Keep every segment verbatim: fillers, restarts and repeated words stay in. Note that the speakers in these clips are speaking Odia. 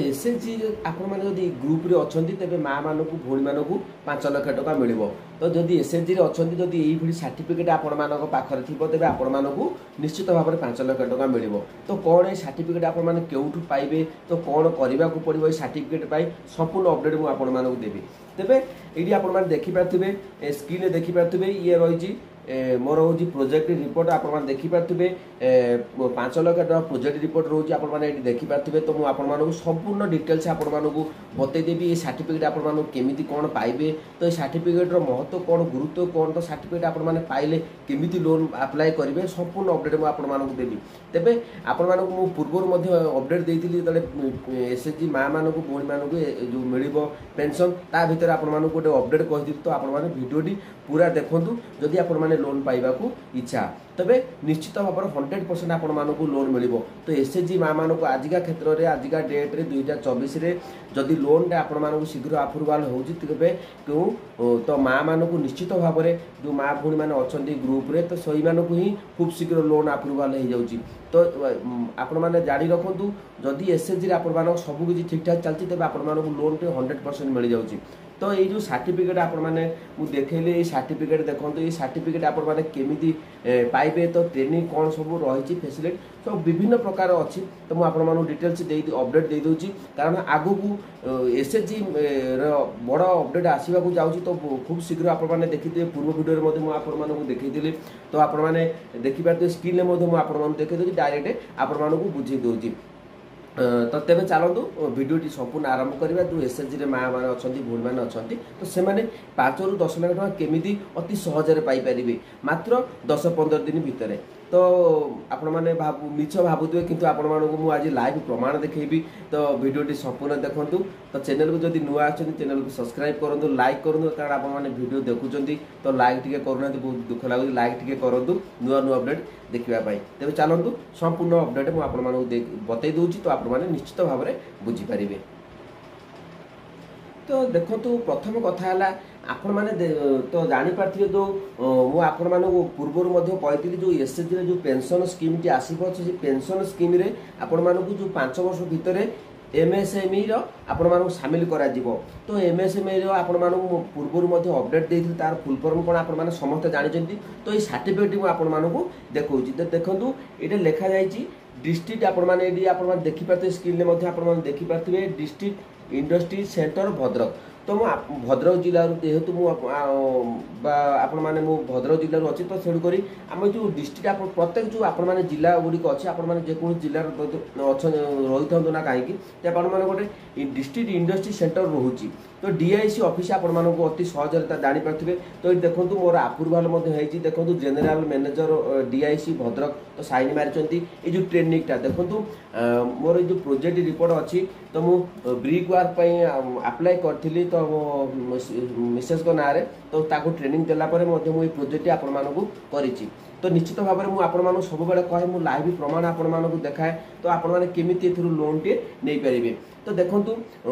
ଏସ୍ ଏଚ୍ ଜି ଆପଣମାନେ ଯଦି ଗ୍ରୁପ୍ରେ ଅଛନ୍ତି ତେବେ ମାଆମାନଙ୍କୁ ଭଉଣୀମାନଙ୍କୁ ପାଞ୍ଚ ଲକ୍ଷ ଟଙ୍କା ମିଳିବ ତ ଯଦି ଏସ୍ ଏଚ୍ ଜିରେ ଅଛନ୍ତି ଯଦି ଏଇଭଳି ସାର୍ଟିଫିକେଟ୍ ଆପଣମାନଙ୍କ ପାଖରେ ଥିବ ତେବେ ଆପଣମାନଙ୍କୁ ନିଶ୍ଚିତ ଭାବରେ ପାଞ୍ଚ ଲକ୍ଷ ଟଙ୍କା ମିଳିବ ତ କ'ଣ ଏଇ ସାର୍ଟିଫିକେଟ୍ ଆପଣମାନେ କେଉଁଠୁ ପାଇବେ ତ କ'ଣ କରିବାକୁ ପଡ଼ିବ ଏଇ ସାର୍ଟିଫିକେଟ୍ ପାଇଁ ସମ୍ପୂର୍ଣ୍ଣ ଅପଡ଼େଟ୍ ମୁଁ ଆପଣମାନଙ୍କୁ ଦେବି ତେବେ ଏଇଠି ଆପଣମାନେ ଦେଖିପାରୁଥିବେ ଏ ସ୍କ୍ରିନ୍ରେ ଦେଖିପାରୁଥିବେ ଇଏ ରହିଛି ଏ, ମୋର ହେଉଛି ପ୍ରୋଜେକ୍ଟ ରିପୋର୍ଟ ଆପଣମାନେ ଦେଖିପାରୁଥିବେ ଏ, ପାଞ୍ଚ ଲକ୍ଷ ଟଙ୍କା ପ୍ରୋଜେକ୍ଟ ରିପୋର୍ଟ ରହୁଛି ଆପଣମାନେ ଏଇଠି ଦେଖିପାରୁଥିବେ ତ ମୁଁ ଆପଣମାନଙ୍କୁ ସମ୍ପୂର୍ଣ୍ଣ ଡିଟେଲ୍ସ ଆପଣମାନଙ୍କୁ ବତେଇଦେବି ଏ ସାର୍ଟିଫିକେଟ୍ ଆପଣମାନଙ୍କୁ କେମିତି କ'ଣ ପାଇବେ ତ ଏ ସାର୍ଟିଫିକେଟ୍ର ମହତ୍ତ୍ୱ କ'ଣ ଗୁରୁତ୍ୱ କ'ଣ ତ ସାର୍ଟିଫିକେଟ୍ ଆପଣମାନେ ପାଇଲେ କେମିତି ଲୋନ୍ ଆପ୍ଲାଏ କରିବେ ସମ୍ପୂର୍ଣ୍ଣ ଅପଡ଼େଟ୍ ମୁଁ ଆପଣମାନଙ୍କୁ ଦେବି ତେବେ ଆପଣମାନଙ୍କୁ ମୁଁ ପୂର୍ବରୁ ମଧ୍ୟ ଅପଡ଼େଟ୍ ଦେଇଥିଲି ଯେତେବେଳେ ଏସ୍ ଏଚ୍ ଜି ମାଆମାନଙ୍କୁ ଭଉଣୀମାନଙ୍କୁ ଏ ଯେଉଁ ମିଳିବ ପେନ୍ସନ୍ ତା ଭିତରେ ଆପଣମାନଙ୍କୁ ଗୋଟେ ଅପଡ଼େଟ୍ କହିଥିଲି ତ ଆପଣମାନେ ଭିଡ଼ିଓଟି ପୁରା ଦେଖନ୍ତୁ ଯଦି ଆପଣମାନେ ଲୋନ୍ ପାଇବାକୁ ଇଚ୍ଛା ତେବେ ନିଶ୍ଚିତ ଭାବରେ ହଣ୍ଡ୍ରେଡ଼ ପରସେଣ୍ଟ ଆପଣମାନଙ୍କୁ ଲୋନ୍ ମିଳିବ ତ ଏସ୍ ଏଚ୍ ଜି ମାଆମାନଙ୍କୁ ଆଜିକା କ୍ଷେତ୍ରରେ ଆଜିକା ଡେଟ୍ରେ ଦୁଇ ହଜାର ଚବିଶରେ ଯଦି ଲୋନ୍ଟା ଆପଣମାନଙ୍କୁ ଶୀଘ୍ର ଆପ୍ରୁଭାଲ୍ ହେଉଛି ତେବେ କେଉଁ ତ ମାଆମାନଙ୍କୁ ନିଶ୍ଚିତ ଭାବରେ ଯେଉଁ ମା ଭଉଣୀମାନେ ଅଛନ୍ତି ଗ୍ରୁପ୍ରେ ତ ସେଇମାନଙ୍କୁ ହିଁ ଖୁବ୍ ଶୀଘ୍ର ଲୋନ୍ ଆପ୍ରୁଭାଲ୍ ହେଇଯାଉଛି ତ ଆପଣମାନେ ଜାଣି ରଖନ୍ତୁ ଯଦି ଏସ୍ ଏଚ୍ ଜିରେ ଆପଣମାନଙ୍କ ସବୁ କିଛି ଠିକ୍ଠାକ୍ ଚାଲିଛି ତେବେ ଆପଣମାନଙ୍କୁ ଲୋନ୍ଟି ହଣ୍ଡ୍ରେଡ଼ ପରସେଣ୍ଟ ମିଳିଯାଉଛି ତ ଏଇ ଯେଉଁ ସାର୍ଟିଫିକେଟ୍ ଆପଣମାନେ ମୁଁ ଦେଖେଇଲି ଏଇ ସାର୍ଟିଫିକେଟ୍ ଦେଖନ୍ତୁ ଏଇ ସାର୍ଟିଫିକେଟ୍ ଆପଣମାନେ କେମିତି ଏ, ପାଇବେ ତ ଟ୍ରେନିଂ କ'ଣ ସବୁ ରହିଛି ଫେସିଲିଟି ସବୁ ବିଭିନ୍ନ ପ୍ରକାର ଅଛି ତ ମୁଁ ଆପଣମାନଙ୍କୁ ଡିଟେଲ୍ସ ଦେଇ ଅପଡ଼େଟ୍ ଦେଇଦେଉଛି କାରଣ ଆଗକୁ ଏସ୍ ଏଚ୍ ଜି ର ବଡ଼ ଅପଡ଼େଟ୍ ଆସିବାକୁ ଯାଉଛି ତ ଖୁବ୍ ଶୀଘ୍ର ଆପଣମାନେ ଦେଖିଥିବେ ପୂର୍ବ ଭିଡ଼ିଓରେ ମଧ୍ୟ ମୁଁ ଆପଣମାନଙ୍କୁ ଦେଖେଇଥିଲି ତ ଆପଣମାନେ ଦେଖିପାରୁଥିବେ ସ୍କ୍ରିନ୍ରେ ମଧ୍ୟ ମୁଁ ଆପଣମାନଙ୍କୁ ଦେଖେଇ ଦେଉଛି ଡାଇରେକ୍ଟ ଆପଣମାନଙ୍କୁ ବୁଝେଇ ଦେଉଛି ତ ତେବେ ଚାଲନ୍ତୁ ଭିଡ଼ିଓଟି ସମ୍ପୂର୍ଣ୍ଣ ଆରମ୍ଭ କରିବା ଯେଉଁ ଏସ୍ ଏଚ୍ ଜିରେ ମା ମାନେ ଅଛନ୍ତି ଭଉଣୀମାନେ ଅଛନ୍ତି ତ ସେମାନେ ପାଞ୍ଚରୁ ଦଶ ଲକ୍ଷ ଟଙ୍କା କେମିତି ଅତି ସହଜରେ ପାଇପାରିବେ ମାତ୍ର ଦଶ ପନ୍ଦର ଦିନ ଭିତରେ ତ ଆପଣମାନେ ଭାବୁ ମିଛ ଭାବୁଥିବେ କିନ୍ତୁ ଆପଣମାନଙ୍କୁ ମୁଁ ଆଜି ଲାଇଭ୍ ପ୍ରମାଣ ଦେଖେଇବି ତ ଭିଡ଼ିଓଟି ସମ୍ପୂର୍ଣ୍ଣ ଦେଖନ୍ତୁ ତ ଚ୍ୟାନେଲକୁ ଯଦି ନୂଆ ଆସୁଛନ୍ତି ଚ୍ୟାନେଲକୁ ସବସ୍କ୍ରାଇବ୍ କରନ୍ତୁ ଲାଇକ୍ କରନ୍ତୁ କାରଣ ଆପଣମାନେ ଭିଡ଼ିଓ ଦେଖୁଛନ୍ତି ତ ଲାଇକ୍ ଟିକେ କରୁନାହାନ୍ତି ବହୁତ ଦୁଃଖ ଲାଗୁଛି ଲାଇକ୍ ଟିକେ କରନ୍ତୁ ନୂଆ ନୂଆ ଅପଡ଼େଟ୍ ଦେଖିବା ପାଇଁ ତେବେ ଚାଲନ୍ତୁ ସମ୍ପୂର୍ଣ୍ଣ ଅପଡ଼େଟ୍ ମୁଁ ଆପଣମାନଙ୍କୁ ବତେଇ ଦେଉଛି ତ ଆପଣମାନେ ନିଶ୍ଚିତ ଭାବରେ ବୁଝିପାରିବେ ତ ଦେଖନ୍ତୁ ପ୍ରଥମ କଥା ହେଲା ଆପଣମାନେ ତ ଜାଣିପାରିଥିବେ ଯେଉଁ ମୁଁ ଆପଣମାନଙ୍କୁ ପୂର୍ବରୁ ମଧ୍ୟ କହିଥିଲି ଯେଉଁ ଏସ୍ ଏଚ୍ ଜିରେ ଯେଉଁ ପେନ୍ସନ୍ ସ୍କିମ୍ଟି ଆସିବ ସେ ପେନ୍ସନ୍ ସ୍କିମ୍ରେ ଆପଣମାନଙ୍କୁ ଯେଉଁ ପାଞ୍ଚ ବର୍ଷ ଭିତରେ ଏମ୍ଏସ୍ଏମ୍ଇର ଆପଣମାନଙ୍କୁ ସାମିଲ କରାଯିବ ତ ଏମ୍ଏସ୍ଏମ୍ଇର ଆପଣମାନଙ୍କୁ ମୁଁ ପୂର୍ବରୁ ମଧ୍ୟ ଅପଡ଼େଟ୍ ଦେଇଥିଲି ତାର ଫୁଲ୍ ଫର୍ମ କ'ଣ ଆପଣମାନେ ସମସ୍ତେ ଜାଣିଛନ୍ତି ତ ଏଇ ସାର୍ଟିଫିକେଟ୍ ମୁଁ ଆପଣମାନଙ୍କୁ ଦେଖାଉଛି ତ ଦେଖନ୍ତୁ ଏଇଟା ଲେଖାଯାଇଛି ଡିଷ୍ଟ୍ରିକ୍ଟ ଆପଣମାନେ ଏଇଠି ଆପଣମାନେ ଦେଖିପାରୁଥିବେ ସ୍କ୍ରିନ୍ରେ ମଧ୍ୟ ଆପଣମାନେ ଦେଖିପାରୁଥିବେ ଡିଷ୍ଟ୍ରିକ୍ଟ ଇଣ୍ଡଷ୍ଟ୍ରି ସେଣ୍ଟର ଭଦ୍ରକ ତ ମୁଁ ଭଦ୍ରକ ଜିଲ୍ଲାରୁ ଯେହେତୁ ମୁଁ ବା ଆପଣମାନେ ମୁଁ ଭଦ୍ରକ ଜିଲ୍ଲାରୁ ଅଛି ତ ତେଣୁକରି ଆମ ଯେଉଁ ଡିଷ୍ଟ୍ରିକ୍ଟ ଆପଣ ପ୍ରତ୍ୟେକ ଯେଉଁ ଆପଣମାନେ ଜିଲ୍ଲା ଗୁଡ଼ିକ ଅଛି ଆପଣମାନେ ଯେକୌଣସି ଜିଲ୍ଲାରେ ଅଛନ୍ତି ରହିଥାନ୍ତୁ ନା କାହିଁକି ତ ଆପଣମାନେ ଗୋଟେ ଡିଷ୍ଟ୍ରିକ୍ଟ ଇଣ୍ଡଷ୍ଟ୍ରି ସେଣ୍ଟର ରହୁଛି ତ ଡିଆଇସି ଅଫିସ୍ ଆପଣମାନଙ୍କୁ ଅତି ସହଜରେ ତା ଜାଣିପାରୁଥିବେ ତ ଏଇଠି ଦେଖନ୍ତୁ ମୋର ଆପ୍ରୁଭାଲ୍ ମଧ୍ୟ ହେଇଛି ଦେଖନ୍ତୁ ଜେନେରାଲ ମ୍ୟାନେଜର ଡିଆଇସି ଭଦ୍ରକ ତ ସାଇନ୍ ମାରିଛନ୍ତି ଏଇ ଯେଉଁ ଟ୍ରେନିଂଟା ଦେଖନ୍ତୁ ମୋର ଏଇ ଯେଉଁ ପ୍ରୋଜେକ୍ଟ ରିପୋର୍ଟ ଅଛି ତ ମୁଁ ବ୍ରିକ୍ ୱାର୍କ ପାଇଁ ଆପ୍ଲାଏ କରିଥିଲି ତ ମୋ ମିସେସ୍ଙ୍କ ନାଁରେ ତ ତାକୁ ଟ୍ରେନିଂ ଦେଲା ପରେ ମଧ୍ୟ ମୁଁ ଏଇ ପ୍ରୋଜେକ୍ଟଟି ଆପଣମାନଙ୍କୁ କରିଛି ତ ନିଶ୍ଚିତ ଭାବରେ ମୁଁ ଆପଣମାନଙ୍କୁ ସବୁବେଳେ କହେ ମୁଁ ଲାଇଭ୍ ପ୍ରମାଣ ଆପଣମାନଙ୍କୁ ଦେଖାଏ ତ ଆପଣମାନେ କେମିତି ଏଥିରୁ ଲୋନ୍ଟିଏ ନେଇପାରିବେ ତ ଦେଖନ୍ତୁ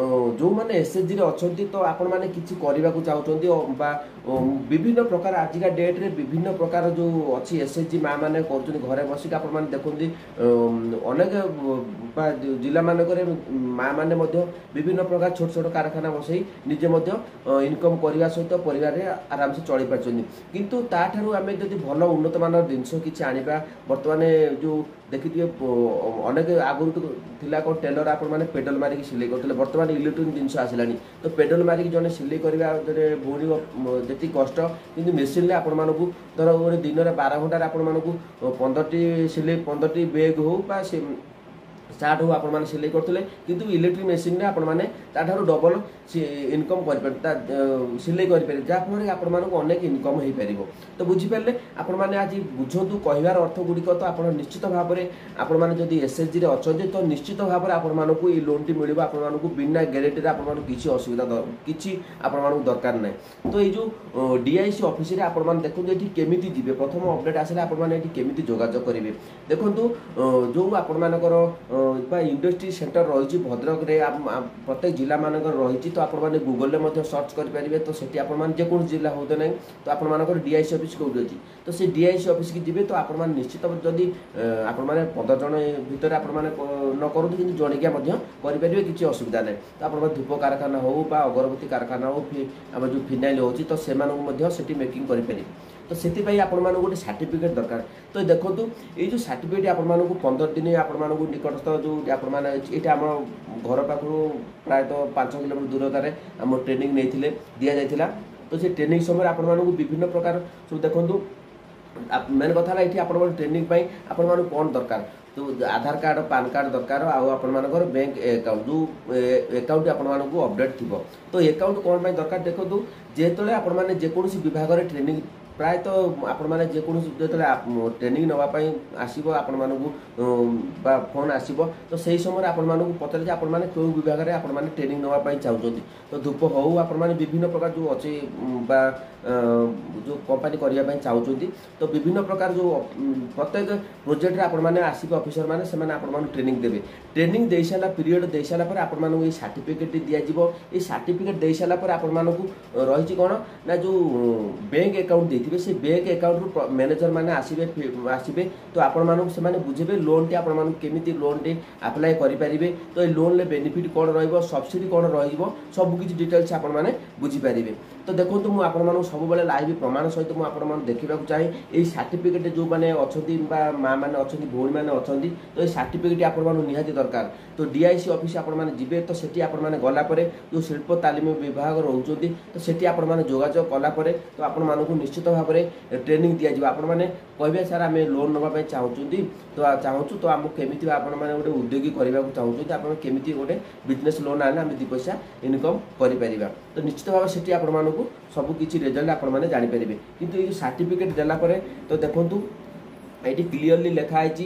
ଯେଉଁମାନେ ଏସ୍ ଏଚ୍ ଜିରେ ଅଛନ୍ତି ତ ଆପଣମାନେ କିଛି କରିବାକୁ ଚାହୁଁଛନ୍ତି ବା ବିଭିନ୍ନ ପ୍ରକାର ଆଜିକା ଡେଟ୍ରେ ବିଭିନ୍ନ ପ୍ରକାର ଯେଉଁ ଅଛି ଏସ୍ ଏଚ୍ ଜି ମା ମାନେ କରୁଛନ୍ତି ଘରେ ବସିକି ଆପଣମାନେ ଦେଖନ୍ତି ଅନେକ ବା ଜିଲ୍ଲାମାନଙ୍କରେ ମା ମାନେ ମଧ୍ୟ ବିଭିନ୍ନ ପ୍ରକାର ଛୋଟ ଛୋଟ କାରଖାନା ବସେଇ ନିଜେ ମଧ୍ୟ ଇନକମ୍ କରିବା ସହିତ ପରିବାରରେ ଆରାମସେ ଚଳି ପାରୁଛନ୍ତି କିନ୍ତୁ ତାଠାରୁ ଆମେ ଯଦି ଭଲ ଉନ୍ନତମାନର ଜିନିଷ କିଛି ଆଣିବା ବର୍ତ୍ତମାନ ଯେଉଁ ଦେଖିଥିବେ ଅନେକ ଆଗରୁ ଥିଲା କ'ଣ ଟେଲର ଆପଣମାନେ ପେଡାଲ ମାରିକି ସିଲେଇ କରୁଥିଲେ ବର୍ତ୍ତମାନ ଇଲେକ୍ଟ୍ରୋନିକ୍ ଜିନିଷ ଆସିଲାଣି ତ ପେଡାଲ ମାରିକି ଜଣେ ସିଲେଇ କରିବା ଜଣେ ଭଉଣୀ ଯେତିକି କଷ୍ଟ କିନ୍ତୁ ମେସିନରେ ଆପଣମାନଙ୍କୁ ଧର ଗୋଟେ ଦିନରେ ବାର ଘଣ୍ଟାରେ ଆପଣମାନଙ୍କୁ ପନ୍ଦରଟି ସିଲେଇ ପନ୍ଦରଟି ବେଗ୍ ହଉ ବା ସେ ସାର୍ଟ ହଉ ଆପଣମାନେ ସିଲେଇ କରୁଥିଲେ କିନ୍ତୁ ଇଲେକ୍ଟ୍ରିକ୍ ମେସିନରେ ଆପଣମାନେ ତାଠାରୁ ଡବଲ ଇନକମ୍ କରିପାରିବେ ତା ସିଲେଇ କରିପାରିବେ ଯାହାଫଳରେ ଆପଣମାନଙ୍କୁ ଅନେକ ଇନକମ୍ ହେଇପାରିବ ତ ବୁଝିପାରିଲେ ଆପଣମାନେ ଆଜି ବୁଝନ୍ତୁ କହିବାର ଅର୍ଥ ଗୁଡ଼ିକ ତ ଆପଣ ନିଶ୍ଚିତ ଭାବରେ ଆପଣମାନେ ଯଦି ଏସ୍ ଏଚ୍ ଜିରେ ଅଛନ୍ତି ତ ନିଶ୍ଚିତ ଭାବରେ ଆପଣମାନଙ୍କୁ ଏଇ ଲୋନ୍ଟି ମିଳିବ ଆପଣମାନଙ୍କୁ ବିନା ଗ୍ୟାରେଣ୍ଟିରେ ଆପଣମାନଙ୍କୁ କିଛି ଅସୁବିଧା କିଛି ଆପଣମାନଙ୍କୁ ଦରକାର ନାହିଁ ତ ଏଇ ଯେଉଁ ଡିଆଇସି ଅଫିସରେ ଆପଣମାନେ ଦେଖନ୍ତୁ ଏଠି କେମିତି ଯିବେ ପ୍ରଥମ ଅପଡ଼େଟ୍ ଆସିଲେ ଆପଣମାନେ ଏଠି କେମିତି ଯୋଗାଯୋଗ କରିବେ ଦେଖନ୍ତୁ ଯେଉଁ ଆପଣମାନଙ୍କର ବା ଇଣ୍ଡଷ୍ଟ୍ରି ସେଣ୍ଟର ରହିଛି ଭଦ୍ରକରେ, ପ୍ରତ୍ୟେକ ଜିଲ୍ଲାମାନଙ୍କର ରହିଛି। ତ ଆପଣମାନେ ଗୁଗଲରେ ମଧ୍ୟ ସର୍ଚ୍ଚ କରିପାରିବେ। ତ ସେଠି ଆପଣମାନେ ଯେକୌଣସି ଜିଲ୍ଲା ହଉ ତ ନାହିଁ, ତ ଆପଣମାନଙ୍କର ଡିଆଇସି ଅଫିସ୍ କେଉଁଠି ଅଛି, ତ ସେ ଡିଆଇସି ଅଫିସକି ଯିବେ। ତ ଆପଣମାନେ ନିଶ୍ଚିତ ଯଦି ଆପଣମାନେ ପନ୍ଦର ଜଣ ଭିତରେ ଆପଣମାନେ ନ କରନ୍ତୁ, କିନ୍ତୁ ଜଣିକିଆ ମଧ୍ୟ କରିପାରିବେ, କିଛି ଅସୁବିଧା ନାହିଁ। ତ ଆପଣଙ୍କ ଧୂପ କାରଖାନା ହଉ ବା ଅଗରବତୀ କାରଖାନା ହଉ, ଆମର ଯେଉଁ ଫିନାଇଲ୍ ହେଉଛି, ତ ସେମାନଙ୍କୁ ମଧ୍ୟ ସେଠି ମେକିଂ କରିପାରିବେ। ତ ସେଥିପାଇଁ ଆପଣମାନଙ୍କୁ ଗୋଟେ ସାର୍ଟିଫିକେଟ୍ ଦରକାର। ତ ଦେଖନ୍ତୁ, ଏଇ ଯେଉଁ ସାର୍ଟିଫିକେଟ୍ ଆପଣମାନଙ୍କୁ ପନ୍ଦର ଦିନ ଆପଣମାନଙ୍କୁ ନିକଟସ୍ଥ ଯେଉଁ ଆପଣମାନେ, ଏଇଟା ଆମ ଘର ପାଖରୁ ପ୍ରାୟତଃ ପାଞ୍ଚ କିଲୋମିଟର ଦୂରତାରେ ଆମ ଟ୍ରେନିଂ ନେଇଥିଲେ, ଦିଆଯାଇଥିଲା। ତ ସେ ଟ୍ରେନିଂ ସମୟରେ ଆପଣମାନଙ୍କୁ ବିଭିନ୍ନ ପ୍ରକାର ସବୁ, ଦେଖନ୍ତୁ, ମେନ୍ କଥା ହେଲା ଏଠି ଆପଣଙ୍କ ଟ୍ରେନିଂ ପାଇଁ ଆପଣମାନଙ୍କୁ କ'ଣ ଦରକାର? ତ ଆଧାର କାର୍ଡ଼, ପାନ୍ କାର୍ଡ଼ ଦରକାର, ଆଉ ଆପଣମାନଙ୍କର ବ୍ୟାଙ୍କ ଆକାଉଣ୍ଟ, ଯେଉଁ ଆକାଉଣ୍ଟ ଆପଣମାନଙ୍କୁ ଅପଡ଼େଟ୍ ଥିବ। ତ ଆକାଉଣ୍ଟ କ'ଣ ପାଇଁ ଦରକାର? ଦେଖନ୍ତୁ, ଯେତେବେଳେ ଆପଣମାନେ ଯେକୌଣସି ବିଭାଗରେ ଟ୍ରେନିଂ, ପ୍ରାୟତଃ ଆପଣମାନେ ଯେକୌଣସି ଯେତେବେଳେ ଟ୍ରେନିଂ ନେବା ପାଇଁ ଆସିବ ଆପଣମାନଙ୍କୁ ବା ଫୋନ୍ ଆସିବ, ତ ସେହି ସମୟରେ ଆପଣମାନଙ୍କୁ ପଚାରେ ଯେ ଆପଣମାନେ କେଉଁ ବିଭାଗରେ ଆପଣମାନେ ଟ୍ରେନିଂ ନେବା ପାଇଁ ଚାହୁଁଛନ୍ତି। ତ ଧୂପ ହେଉ, ଆପଣମାନେ ବିଭିନ୍ନ ପ୍ରକାର ଯେଉଁ ଅଛି ବା ଯେଉଁ କମ୍ପାନୀ କରିବା ପାଇଁ ଚାହୁଁଛନ୍ତି, ତ ବିଭିନ୍ନ ପ୍ରକାର ଯେଉଁ ପ୍ରତ୍ୟେକ ପ୍ରୋଜେକ୍ଟରେ ଆପଣମାନେ ଆସିବେ, ଅଫିସର ମାନେ ସେମାନେ ଆପଣମାନଙ୍କୁ ଟ୍ରେନିଂ ଦେବେ। ଟ୍ରେନିଂ ଦେଇସାରିଲା ପିରିୟଡ଼ ଦେଇସାରିଲା ପରେ ଆପଣମାନଙ୍କୁ ଏଇ ସାର୍ଟିଫିକେଟ୍ଟି ଦିଆଯିବ। ଏଇ ସାର୍ଟିଫିକେଟ୍ ଦେଇସାରିଲା ପରେ ଆପଣମାନଙ୍କୁ ରହିଛି କ'ଣ ନା ଯେଉଁ ବ୍ୟାଙ୍କ ଆକାଉଣ୍ଟ ଦେଇଥିବେ, ସେ ବ୍ୟାଙ୍କ ଆକାଉଣ୍ଟରୁ ମ୍ୟାନେଜର ମାନେ ଆସିବେ ଆସିବେ ତ ଆପଣମାନଙ୍କୁ ସେମାନେ ବୁଝେଇବେ ଲୋନ୍ଟି ଆପଣମାନଙ୍କୁ କେମିତି ଲୋନ୍ଟି ଆପ୍ଲାଏ କରିପାରିବେ, ତ ଏଇ ଲୋନ୍ରେ ବେନିଫିଟ୍ କ'ଣ ରହିବ, ସବସିଡ଼ି କ'ଣ ରହିବ, ସବୁ କିଛି ଡିଟେଲ୍ସ ଆପଣମାନେ ବୁଝିପାରିବେ। ତ ଦେଖନ୍ତୁ, ମୁଁ ଆପଣମାନଙ୍କୁ ସବୁବେଳେ ଲାଇଭ୍ ପ୍ରମାଣ ସହିତ ମୁଁ ଆପଣମାନଙ୍କୁ ଦେଖିବାକୁ ଚାହେଁ। ଏଇ ସାର୍ଟିଫିକେଟ୍ ଯେଉଁମାନେ ଅଛନ୍ତି ବା ମା ମାନେ ଅଛନ୍ତି, ଭଉଣୀମାନେ ଅଛନ୍ତି, ତ ଏଇ ସାର୍ଟିଫିକେଟ୍ ଆପଣମାନଙ୍କୁ ନିହାତି ଦରକାର। ତ ଡିଆଇସି ଅଫିସ୍ ଆପଣମାନେ ଯିବେ, ତ ସେଠି ଆପଣମାନେ ଗଲା ପରେ ଯେଉଁ ଶିଳ୍ପ ତାଲିମ ବିଭାଗ ରହୁଛନ୍ତି, ତ ସେଠି ଆପଣମାନେ ଯୋଗାଯୋଗ କଲା ପରେ ତ ଆପଣମାନଙ୍କୁ ନିଶ୍ଚିତ ଭାବରେ ଟ୍ରେନିଂ ଦିଆଯିବ। ଆପଣମାନେ କହିବେ, ସାର୍ ଆମେ ଲୋନ୍ ନେବା ପାଇଁ ଚାହୁଁଛନ୍ତି, ତ ଚାହୁଁଛୁ, ତ ଆମକୁ କେମିତି ଆପଣମାନେ ଗୋଟେ ଉଦ୍ୟୋଗୀ କରିବାକୁ ଚାହୁଁଛନ୍ତି, ଆପଣ କେମିତି ଗୋଟେ ବିଜନେସ୍ ଲୋନ୍ ଆଣିଲେ ଆମେ ଦୁଇ ପଇସା ଇନକମ୍ କରିପାରିବା। ତ ନିଶ୍ଚିତ ଭାବରେ ସେଠି ଆପଣମାନଙ୍କୁ ସବୁ କିଛି ରେଜଲ୍ଟ ଆପଣମାନେ ଜାଣିପାରିବେ। କିନ୍ତୁ ଏଇ ଯେଉଁ ସାର୍ଟିଫିକେଟ୍ ଦେଲା ପରେ, ତ ଦେଖନ୍ତୁ, ଏଇଠି କ୍ଲିଅରଲି ଲେଖା ହେଇଛି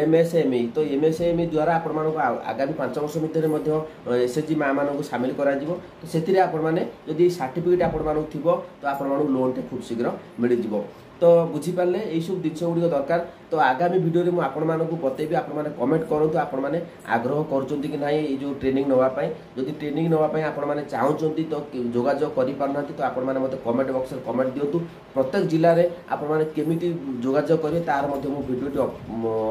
ଏମ୍ ଏସ୍ ଏମ୍ ଇ। ତ ଏମ୍ ଏସ୍ ଏମ୍ ଇ ଦ୍ୱାରା ଆପଣମାନଙ୍କୁ ଆଗାମୀ ପାଞ୍ଚ ବର୍ଷ ଭିତରେ ମଧ୍ୟ ଏସ୍ ଏଚ୍ ଜି ମାଆମାନଙ୍କୁ ସାମିଲ କରାଯିବ। ତ ସେଥିରେ ଆପଣମାନେ ଯଦି ସାର୍ଟିଫିକେଟ୍ ଆପଣମାନଙ୍କୁ ଥିବ, ତ ଆପଣମାନଙ୍କୁ ଲୋନ୍ଟେ ଖୁବ୍ ଶୀଘ୍ର ମିଳିଯିବ। ତ ବୁଝିପାରିଲେ, ଏଇସବୁ ଜିନିଷ ଗୁଡ଼ିକ ଦରକାର। ତ ଆଗାମୀ ଭିଡ଼ିଓରେ ମୁଁ ଆପଣମାନଙ୍କୁ ବତେଇବି। ଆପଣମାନେ କମେଣ୍ଟ କରନ୍ତୁ, ଆପଣମାନେ ଆଗ୍ରହ କରୁଛନ୍ତି କି ନାହିଁ ଏଇ ଯେଉଁ ଟ୍ରେନିଂ ନେବା ପାଇଁ। ଯଦି ଟ୍ରେନିଂ ନେବା ପାଇଁ ଆପଣମାନେ ଚାହୁଁଛନ୍ତି, ତ ଯୋଗାଯୋଗ କରିପାରୁନାହାନ୍ତି, ତ ଆପଣମାନେ ମୋତେ କମେଣ୍ଟ ବକ୍ସରେ କମେଣ୍ଟ ଦିଅନ୍ତୁ। ପ୍ରତ୍ୟେକ ଜିଲ୍ଲାରେ ଆପଣମାନେ କେମିତି ଯୋଗାଯୋଗ କରିବେ, ତାର ମଧ୍ୟ ମୁଁ ଭିଡ଼ିଓଟି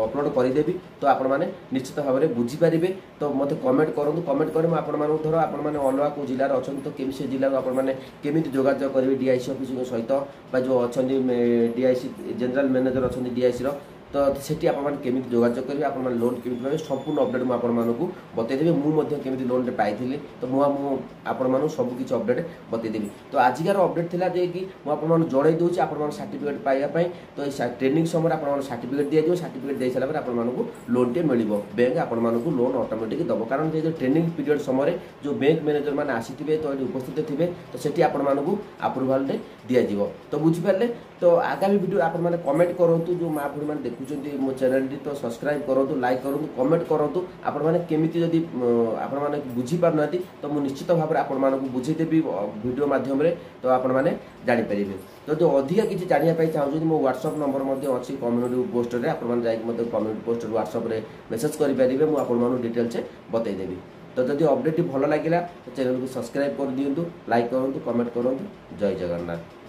ଅପଲୋଡ଼ କରିଦେବି, ତ ଆପଣମାନେ ନିଶ୍ଚିତ ଭାବରେ ବୁଝିପାରିବେ। ତ ମୋତେ କମେଣ୍ଟ କରନ୍ତୁ। କମେଣ୍ଟ କରି ମୁଁ ଆପଣମାନଙ୍କୁ, ଧର ଆପଣମାନେ ଅଲଗା କେଉଁ ଜିଲ୍ଲାରେ ଅଛନ୍ତି, ତ କେମିତି ସେ ଜିଲ୍ଲାକୁ ଆପଣମାନେ କେମିତି ଯୋଗାଯୋଗ କରିବେ ଡିଆଇସି ଅଫିସଙ୍କ ସହିତ, ବା ଯେଉଁ ଅଛନ୍ତି ଡିଆଇସି ଜେନେରାଲ ମ୍ୟାନେଜର ଅଛନ୍ତି ଡିଆଇସିର, ତ ସେଠି ଆପଣମାନେ କେମିତି ଯୋଗାଯୋଗ କରିବେ, ଆପଣମାନେ ଲୋନ୍ କେମିତି ପାଇବେ, ସମ୍ପୂର୍ଣ୍ଣ ଅପଡ଼େଟ୍ ମୁଁ ଆପଣମାନଙ୍କୁ ବତେଇଦେବି। ମୁଁ ମଧ୍ୟ କେମିତି ଲୋନ୍ଟେ ପାଇଥିଲି, ତ ମୁଁ ମୁଁ ଆପଣମାନଙ୍କୁ ସବୁ କିଛି ଅପଡ଼େଟ୍ ବତେଇଦେବି। ତ ଆଜିକାର ଅପଡ଼େଟ୍ ଥିଲା ଯେ କି ମୁଁ ଆପଣମାନଙ୍କୁ ଜଣାଇ ଦେଉଛି, ଆପଣମାନଙ୍କ ସାର୍ଟିଫିକେଟ୍ ପାଇବା ପାଇଁ ତ ଏଇ ଟ୍ରେନିଂ ସମୟରେ ଆପଣମାନଙ୍କୁ ସାର୍ଟିଫିକେଟ୍ ଦିଆଯିବ। ସାର୍ଟିଫିକେଟ୍ ଦେଇସାରିଲା ପରେ ଆପଣମାନଙ୍କୁ ଲୋନ୍ଟେ ମିଳିବ। ବ୍ୟାଙ୍କ ଆପଣମାନଙ୍କୁ ଲୋନ୍ ଅଟୋମେଟିକ୍ ଦେବ, କାରଣ ଯେ ଯେଉଁ ଟ୍ରେନିଂ ପିରିୟଡ଼ ସମୟରେ ଯେଉଁ ବ୍ୟାଙ୍କ ମ୍ୟାନେଜର ମାନେ ଆସିଥିବେ, ତ ଏଠି ଉପସ୍ଥିତ ଥିବେ, ତ ସେଠି ଆପଣମାନଙ୍କୁ ଆପ୍ରୁଭାଲଟେ ଦିଆଯିବ। ତ ବୁଝିପାରିଲେ? ତ ଆଗାମୀ ଭିଡ଼ିଓ ଆପଣମାନେ କମେଣ୍ଟ କରନ୍ତୁ। ଯେଉଁ ମା ଭଉଣୀମାନେ ଦେଖୁଛନ୍ତି ମୋ ଚ୍ୟାନେଲଟି, ତ ସବସ୍କ୍ରାଇବ୍ କରନ୍ତୁ, ଲାଇକ୍ କରନ୍ତୁ, କମେଣ୍ଟ କରନ୍ତୁ। ଆପଣମାନେ କେମିତି ଯଦି ଆପଣମାନେ ବୁଝିପାରୁନାହାନ୍ତି, ତ ମୁଁ ନିଶ୍ଚିତ ଭାବରେ ଆପଣମାନଙ୍କୁ ବୁଝେଇଦେବି ଭିଡ଼ିଓ ମାଧ୍ୟମରେ, ତ ଆପଣମାନେ ଜାଣିପାରିବେ। ଯଦି ଅଧିକା କିଛି ଜାଣିବା ପାଇଁ ଚାହୁଁଛନ୍ତି, ମୋ ହ୍ୱାଟ୍ସଅପ୍ ନମ୍ବର ମଧ୍ୟ ଅଛି କମ୍ୟୁନିଟି ପୋଷ୍ଟରେ। ଆପଣମାନେ ଯାଇକି ମଧ୍ୟ କମ୍ୟୁନିଟି ପୋଷ୍ଟର ହ୍ୱାଟ୍ସଅପ୍ରେ ମେସେଜ୍ କରିପାରିବେ, ମୁଁ ଆପଣମାନଙ୍କୁ ଡିଟେଲ୍ସ ବତେଇଦେବି। ତ ଯଦି ଅପଡ଼େଟ୍ଟି ଭଲ ଲାଗିଲା, ତ ଚ୍ୟାନେଲକୁ ସବସ୍କ୍ରାଇବ୍ କରିଦିଅନ୍ତୁ, ଲାଇକ୍ କରନ୍ତୁ, କମେଣ୍ଟ କରନ୍ତୁ। ଜୟ ଜଗନ୍ନାଥ।